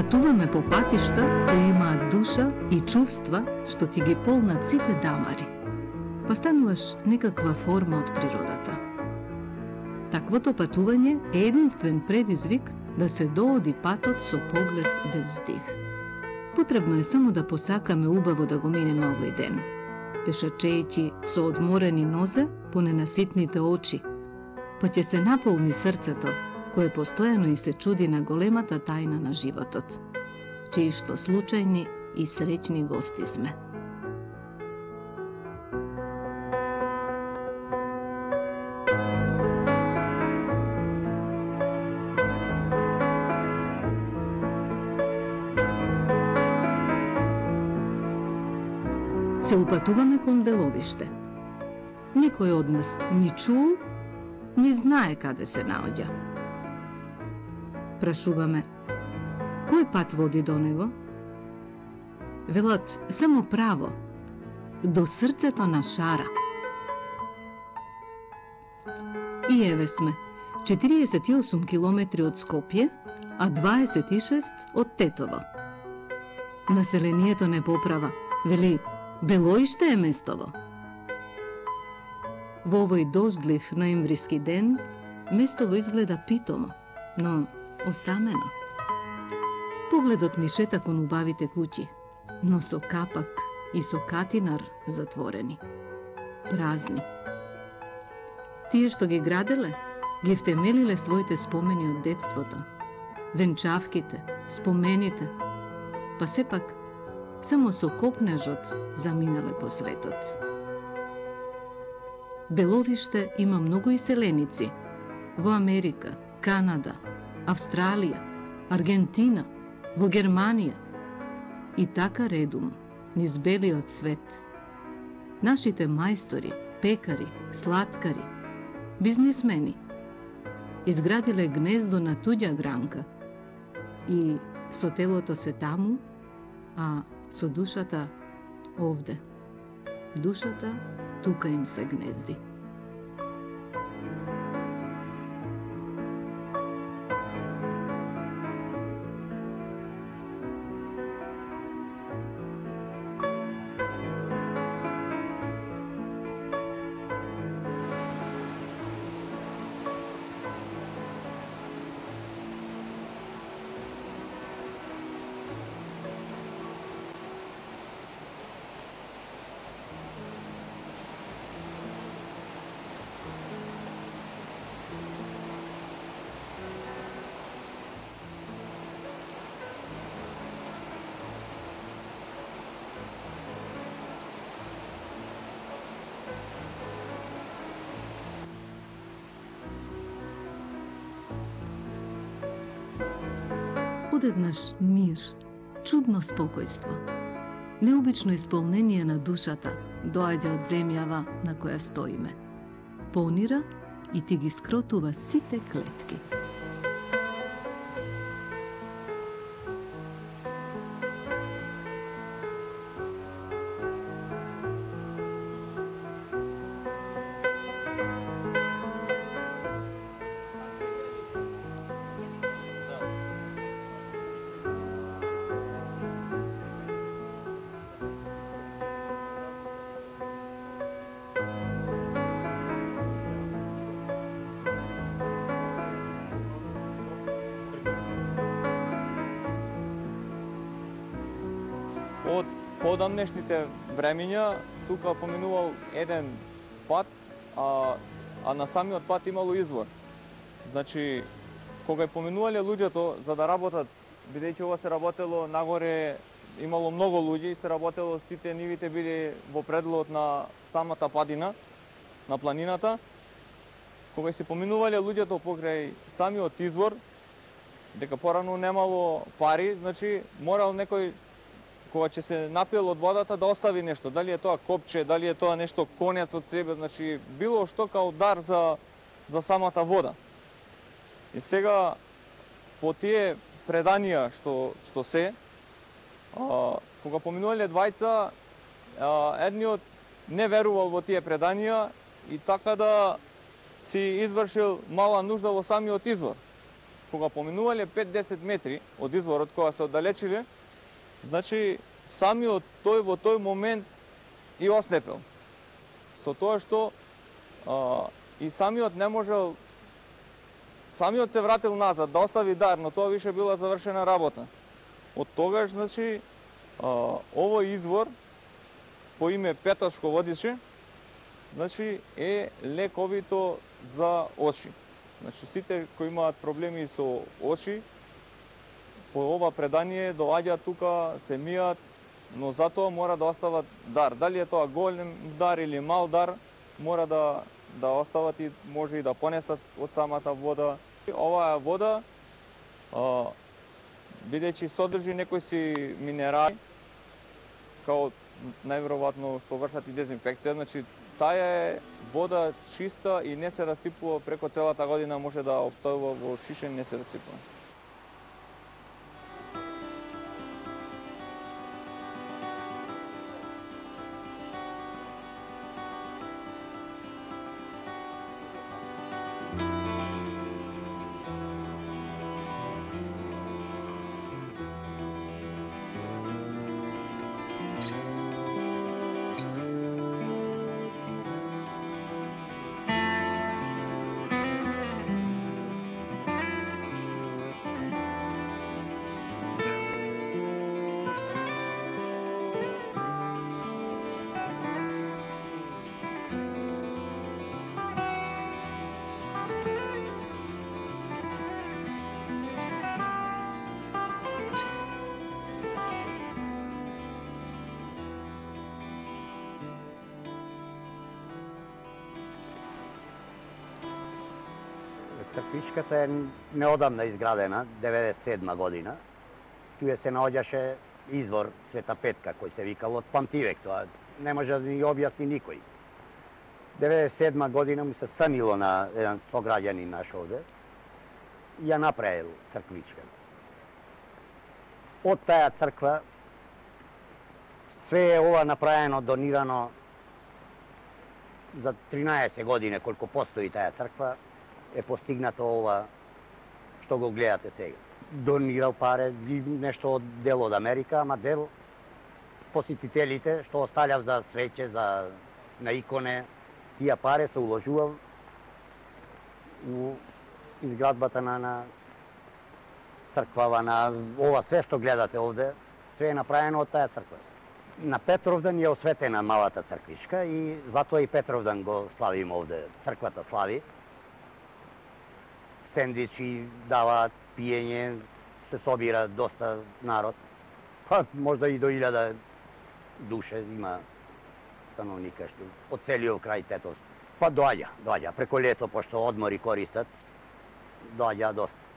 Патуваме по патишта кои имаат душа и чувства што ти ги полнат сите дамари, па стануваш некаква форма од природата. Таквото патување е единствен предизвик да се дооди патот со поглед без див. Потребно е само да посакаме убаво да го минеме овој ден, пешачејќи со одморени нозе по ненаситните очи, па ќе се наполни срцето, кое постојано и се чуди на големата тајна на животот, чии што случајни и среќни гости сме. Се упатуваме кон Беловиште. Никој од нас ни чул, ни знае каде се наоѓа. Прашуваме, кој пат води до него? Велат, само право, до срцето на Шара. И еве сме, 48 километри од Скопје, а 26 од Тетово. Населението не поправа, вели, Белоиште е местово. Во овој дождлив ноемвриски ден, местово изгледа питомо, но осамено. Погледот ми шета кон убавите куќи, но со капак и со катинар затворени. Празни. Тие што ги граделе, ги втемелиле своите спомени од детството, венчавките, спомените, па сепак само со копнежот заминале по светот. Беловиште има многу иселеници во Америка, Канада, Австралија, Аргентина, во Германија и така редум низ белиот свет. Нашите мајстори, пекари, сладкари, бизнисмени изградиле гнездо на туѓа гранка и со телото се таму, а со душата овде. Душата тука им се гнезди. Одеднаш мир, чудно спокојство, необично исполнение на душата доаѓа од земјава на која стоиме. Понира и ти ги скротува сите клетки. Од подамнешните времења тука поминувал еден пат, а на самиот пат имало извор. Значи, кога поминувале луѓето за да работат, бидејќи ова се работело нагоре, имало многу луѓе и се работело, сите нивите биле во пределот на самата падина, на планината. Кога се поминувале луѓето покрај самиот извор, дека порано немало пари, значи морал некој кога ќе се напил од водата да остави нешто, дали е тоа копче, дали е тоа нешто конец од себе, значи било што као дар за самата вода. И сега по тие преданија што се, кога поминувале двајца, едниот не верувал во тие преданија и така да си извршил мала нужда во самиот извор. кога поминувале 5-10 метри од изворот, кога се оддалечиле, значи самиот тој во тој момент и ослепел. Со тоа што и самиот не можел, самиот се вратил назад да остави дар, но тоа више била завршена работа. Од тогаш, значи, овој извор по име Петошко водише, значи е лековито за очи. Значи сите кои имаат проблеми со очи, по ова предание доаѓаат тука, се мијат, но затоа мора да остават дар. Дали е тоа голем дар или мал дар, мора да остават и може и да понесат од самата вода. Оваа вода, бидејќи содржи некои си минерали, као најверојатно што вршат и дезинфекција, значи таа е вода чиста и не се расипува преку целата година, може да обстојува во шишен, не се расипува. Црквичката е неодамна изградена, 97 година. Туе се наоѓаше извор Света Петка, кој се викал од памтивек, тоа не може да ни објасни никој. 97 година му се санило на еден сограѓанин наш овде и ја направил црквичка. Од таа црква све е ова направено, донирано за 13 години колку постои таа црква, е постигнато ова што го гледате сега. Донирал пари, нешто од дел од Америка, ама дел посетителите што оставljав за свеќе, за на иконе, тие пари се уложувал у изградбата на црквава, на ова се што гледате овде, све е направено од таа црква. На Петровдан е осветена малата црквичка и затоа и Петровдан го славиме овде, црквата слави. Сендвичи даваат, пиење, се собира доста народ. Па можда и до 1000 душе има становника што од целиот крај Тетовско. Па доаѓа, преку лето, пошто одмори користат, доаѓа доста.